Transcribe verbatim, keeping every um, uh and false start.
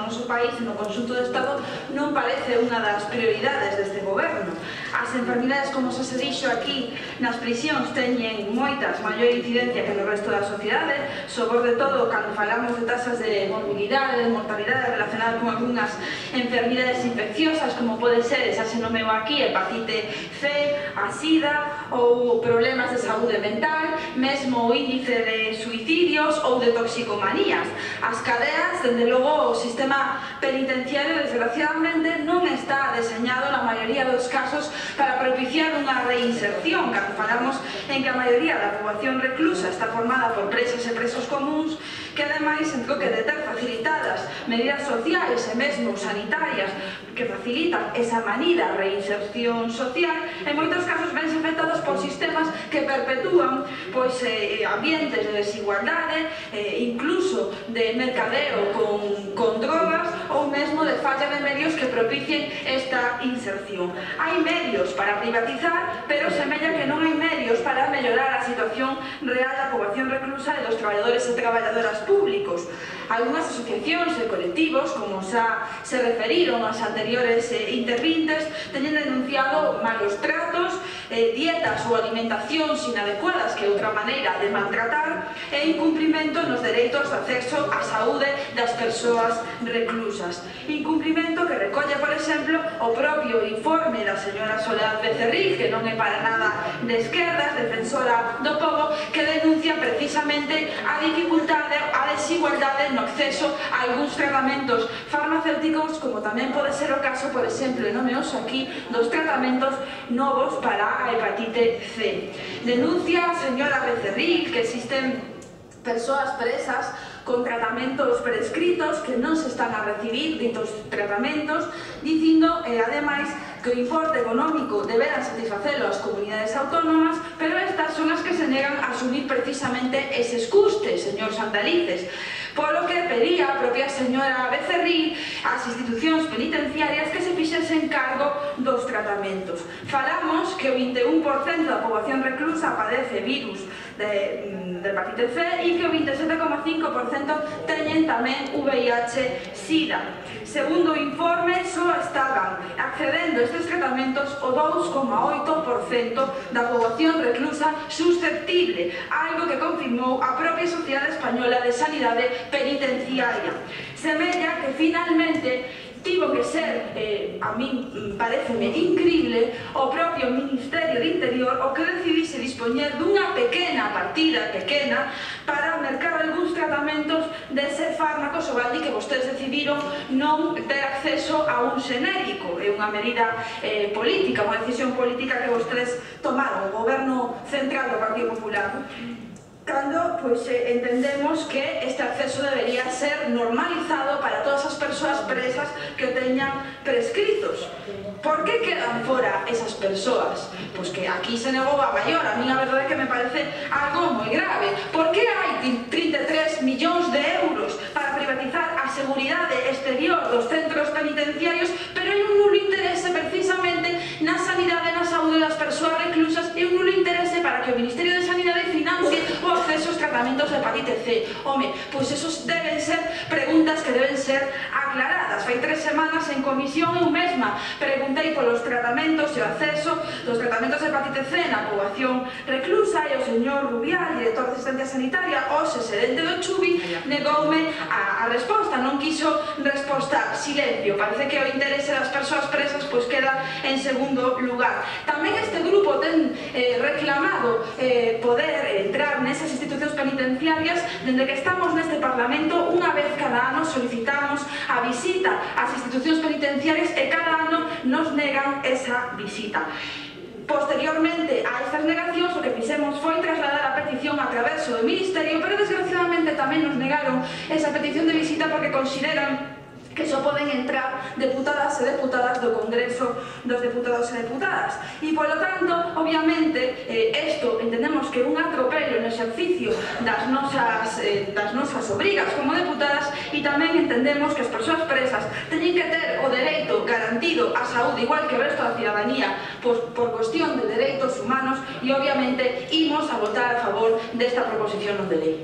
no noso país e no conxunto do Estado non parece unha das prioridades deste goberno. As enfermidades, como xa se dixo aquí, nas prisións teñen moitas maior incidencia que no resto da sociedade, sobre todo cando falamos de tasas de morbilidade, de mortalidade relacionadas con algunhas enfermidades infecciosas, como pode ser, xa se nomeu aquí, hepatite C, a sida ou problemas de saúde mental, mesmo o índice de suicidios ou de toxicomanías. As cadeas, dende logo, o sistema penitenciario, desgraciadamente, non está deseñado na maioría dos casos para propiciar unha reinserción, cando falamos en que a maioría da poboación reclusa está formada por presas e presos comuns, que ademais, en troque de ter facilitadas medidas sociais e mesmo sanitarias que facilitan esa manida reinserción social, en moitos casos vense afectados por sistemas que perpetúan pois, eh, ambientes de desigualdade, eh, incluso de mercadeo con, con drogas ou mesmo de falla de medios que propicien esta inserción. Hai medios para privatizar, pero semella que non hai medios para mellorar a situación real da poboación reclusa e dos traballadores e traballadoras públicos. Algúnas asociacións e colectivos, como xa se referiron as anteriores eh, intervintes, teñen denunciado malos tratos, eh, dietas ou alimentacións inadecuadas, que é outra maneira de maltratar, e incumprimento nos dereitos de acceso á saúde das persoas reclusas. Incumprimento que recolle, por exemplo, o propio informe da señora Soledad Becerril, que non é para nada de esquerdas, defensora do pobo, que denuncia precisamente a dificultade, a desigualdade no acceso a algúns tratamentos farmacéuticos, como tamén pode ser o caso, por exemplo, e nomeoso aquí, dos tratamentos novos para a hepatite C. Denuncia a señora Becerril que existen persoas presas con tratamentos prescritos que non se están a recibir ditos tratamentos, dicindo, eh, ademais, que o importe económico deberán satisfacelo as comunidades autónomas, pero estas son as que se negan a asumir precisamente eses custes, señor Santalices. Polo que pedía a propia señora Becerril ás institucións penitenciarias que se fixesen cargo dos tratamentos. Falamos que o vinte e un por cento da poboación reclusa padece virus de, de hepatite C e que o vinte e sete coma cinco por cento teñen tamén V I H SIDA. Segundo o informe, só estaban accedendo a estes tratamentos o dous coma oito por cento da poboación reclusa susceptible, algo que confirmou a propia Sociedade Española de Sanidade Penitenciaria. Semella que finalmente tivo que ser, eh, a min pareceme increíble, o propio Ministerio de Interior o que decidise dispoñer dunha pequena partida, pequena, para mercar algúns tratamentos dese fármaco sobaldi que vostedes decidiron non ter acceso a un xenérico. É unha medida eh, política, unha decisión política que vostedes tomaron, o goberno central do Partido Popular. Cando pues, eh, entendemos que este acceso debería ser normalizado para todas as persoas presas que teñan prescritos. Por que quedan fora esas persoas? Pois que aquí se negou a maior, a mí a verdade é que me parece algo moi grave. Por que hai trinta e tres millóns de euros para privatizar a seguridade exterior dos centros penitenciarios, pero hai un nulo interese precisamente na sanidade e na saúde das persoas reclusas e un nulo interese para que o Ministerio de Sanidade financie o acceso aos tratamentos de hepatite C? Home, pois esos deben ser preguntas que deben ser aclaradas. Fai tres semanas en comisión eu mesma preguntei polos tratamentos e o acceso dos tratamentos de hepatite C na poboación reclusa e o señor Rubial, director de asistencia sanitaria, o xerente do Chubi, negoume a, a resposta, non quiso resposta, silencio. Parece que o interese das persoas presas pois queda en segundo lugar. Tamén este grupo ten eh, reclamado eh, poder entrar nesas institucións penitenciarias. Dende que estamos neste Parlamento, unha vez cada ano solicitamos a visita ás institucións penitenciarias e cada ano nos negan esa visita. Posteriormente a estas negacións, o que fixemos foi trasladar a petición a través do Ministerio, pero desgraciadamente tamén nos negaron esa petición de visita porque consideran que só poden entrar deputadas e deputadas do Congreso dos Deputados e Deputadas. E, polo tanto, obviamente, isto eh, entendemos que é un atropello no exercicio das nosas, eh, das nosas obrigas como deputadas, e tamén entendemos que as persoas presas teñen que ter o dereito garantido á saúde igual que o resto da cidadanía por, por cuestión de dereitos humanos, e obviamente imos a votar a favor desta proposición non de lei.